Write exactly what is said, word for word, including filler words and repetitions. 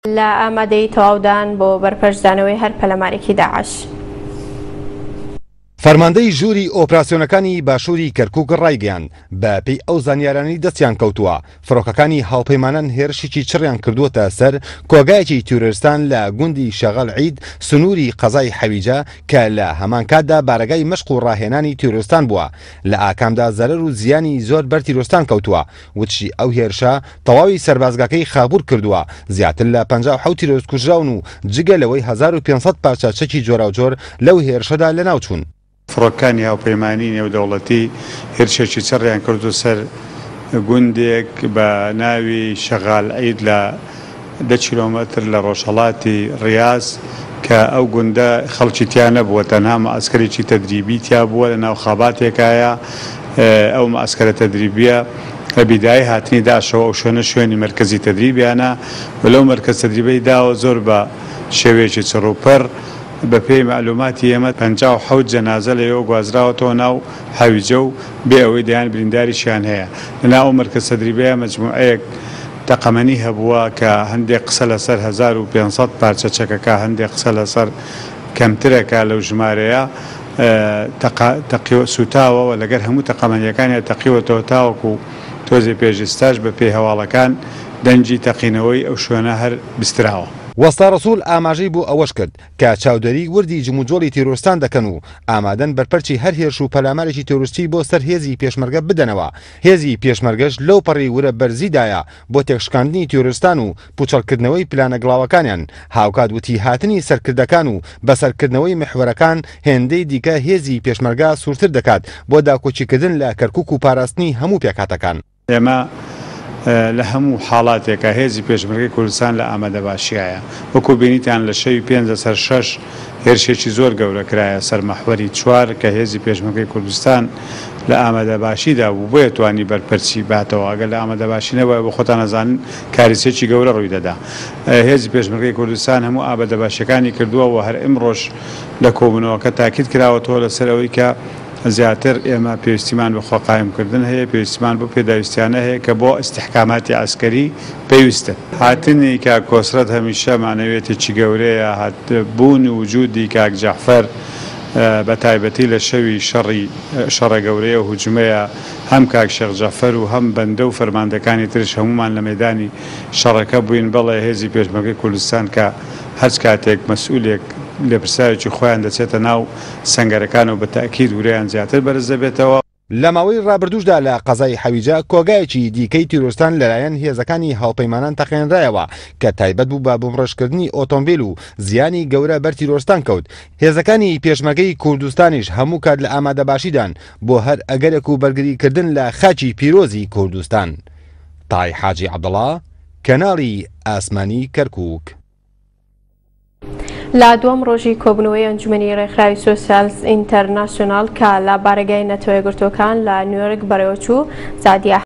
لە ئامادەی تەواودان بۆ بەرپەرچدانەوەی هەر پەلامارێکی داعش. فەرماندەی ژووری ئۆپراسیۆنەکانی باشووری کەرکوک ڕایگەیاند، بە پێی ئەو زانیارانەی دەستیان کەوتووە، فڕۆکەکانی هاوپەیمانان هێرشێکی چڕیان کردووەتە سەر کۆگایەکی تیرۆرستان لە گوندی شەغەل عید سنووری قەزای حەویجە کە لە هەمان کاتدا بارەگای مەشق و ڕاهێنانی تیرۆرستان بووە، لە ئاکامدا زەرەر و زیانی زۆر بەر تیرۆرستان کەوتووە. وتشی ئەو هێرشە تەواوی سەربازگاکەی خابوور کردووە، زیاتر لە پەنجا و حەوت تیرۆرست کوژراون و جگە لەوەی هەزار و پێنج سەد پارچە چەکی جۆراوجۆر لەو هێرشەدا لەناوچوون. فڕۆکانی هاوپەیمانی نێودەوڵەتی هێرشێکی چڕیان کردو سەر گوندێک بە ناوی شەغال عید لە دە کیلۆمەتر لە ڕۆژهەڵاتی ڕیاز کە ئەو گوندە خەڵکی تیا نەبووە، تەنها مەعسکەرێکی تەدریبی تیا بووە لە ناو خاباتێکایە. ئەو مەعسکەرە تەدریبیە لە بیدای هاتنی داشەوە ئەو شوێنە شوێنی مەرکەزی تەدریبیانە و لەو مەرکەز تەدریبەی داوە زۆر بە شێوەیەکی چڕوپڕ بە پێی مەعلوماتی ئێمە پەنجا و حەوت جەنازە لەوێوە گوازراوەتەوە ناو حەویجە و بێ ئەوەی دەیان برینداریشیان هەیە. لەناو ئەو مەرکەز تەدریبەیە مەجموعەیەک تەقەمەنی هەبووە کە هەندێک قسە لەسەر هەزار و پێنج سەد پارچە چەکەکە، هەندێک قسە لەسەر کەمترەکە لەو ژمارەیە تەقیوە سوتاوە و لەگەر هەموو تەقەمەنیەکانیان تەقیوەتەوە تاوەکو تۆزێ پێشستاش بە پێی هەواڵەکان دەنگی تەقینەوەی ئەو شوێنە هەر بستراوە. وەستا ڕەسوڵ ئاماژەی بۆ ئەوەش کرد کە چاودێری وردی جموجۆڵی تیرۆرستان دەکەن و ئامادەن بەرپەرچی هەر هێرش و پەلامارێکی تیرۆریستی بۆ سەر هێزی پێشمەرگە بدەنەوە. هێزی پێشمەرگەش لەو پەڕی ورە بەرزیدایە بۆ تێکشکاندنی تیرۆرستان و پوچەڵکردنەوەی پلانە گڵاوەکانیان. هاوکات وتی هاتنی سەرکردەکان و بەسەرکردنەوەی محوەرەکان هێندەی دیکە هێزی پێشمەرگە سوورتر دەکات بۆ داکۆکیکردن لە کەرکوک و پاراستنی هەموو پێکهاتەکان. ئێمە لە هەموو حاڵاتێکە هێزی پێشمەرگەی کوردستان لە ئامادەباشیایە. وەکو بینیتان لە شەوی پێنج لەسەر شەش هێرشێکی زۆر گەورە کرایە سەر مەحوەری چوار کە هێزی پێشمەرگەی کوردستان لە ئامادەباشیدا بوو، بۆیە توانی بەرپەرچی باتەوە. ئەگەر لە ئامادەباشی نەبووە بۆ خۆتان ئەزانن کاریسێکی گەورە ڕووی دەدا. هێزی پێشمەرگەی کوردستان هەموو ئامادەباشیەکانی کردووە و هەر ئیمڕۆژ لە کۆبوونەوەکە تاکید کراوەتەوە لەسەر ئەوەی کە زیاتر ئێمە پێویستیمان بە خۆقایمکردن هەیە، پێویستیمان بۆ پێداویستیانە هەیە کە بۆ ئیستیحکاماتی عەسکەری پێویستن. هاتنی کاک کۆسرەت هەمیشە معنەویەتێکی گەورەیە. بوون و وجودی کاک جەعفەر بە تایبەتی لە شەوی شەڕی شەڕە گەورەیە و هجومەیە، هەم کاک شێخ جەعفەر و هەم بەندە و فەرماندەکانی ترش هەمومان لە مەدانی شەڕەکە بووین. بەڵێ هێزی پێشمەرگەی کوردستان کە هەرچ کاتێک مەسئولێک لێپرسراوێکی خۆیان دەچێتە ناو سەنگەرەکان و بە تەئکید ورەیان زیاتر بەرز دەبێتەوە. لە ماوەی ڕابردووشدا لە قەزای حەویجە کۆگایەکی دیکەی تیرۆرستان لەلایەن هێزەکانی هاوپەیمانان تەقێنرایەوە کە تایبەت بوو بە بۆمڕێژکردنی ئۆتۆمبیل و زیانی گەورە بەر تیرۆرستان کەوت. هێزەکانی پێشمەرگەی کوردستانیش هەموو کات لە ئامادەباشیدان بۆ هەر ئەگەرێک و بەرگریکردن لە خاکی پیرۆزی کوردستان. تای حاجی عەبدوڵڵا، کەناڵی ئاسمانی کەرکوک. لە دووەم ڕۆژی کۆبوونەوەی ئەنجومەنی ڕێکخراوی سۆسیالست ئینتەرناسیۆنال کە لە بارەگای نەتەوە یەکگرتووەکان لە نیویۆرک بەڕێوەچوو، سادیە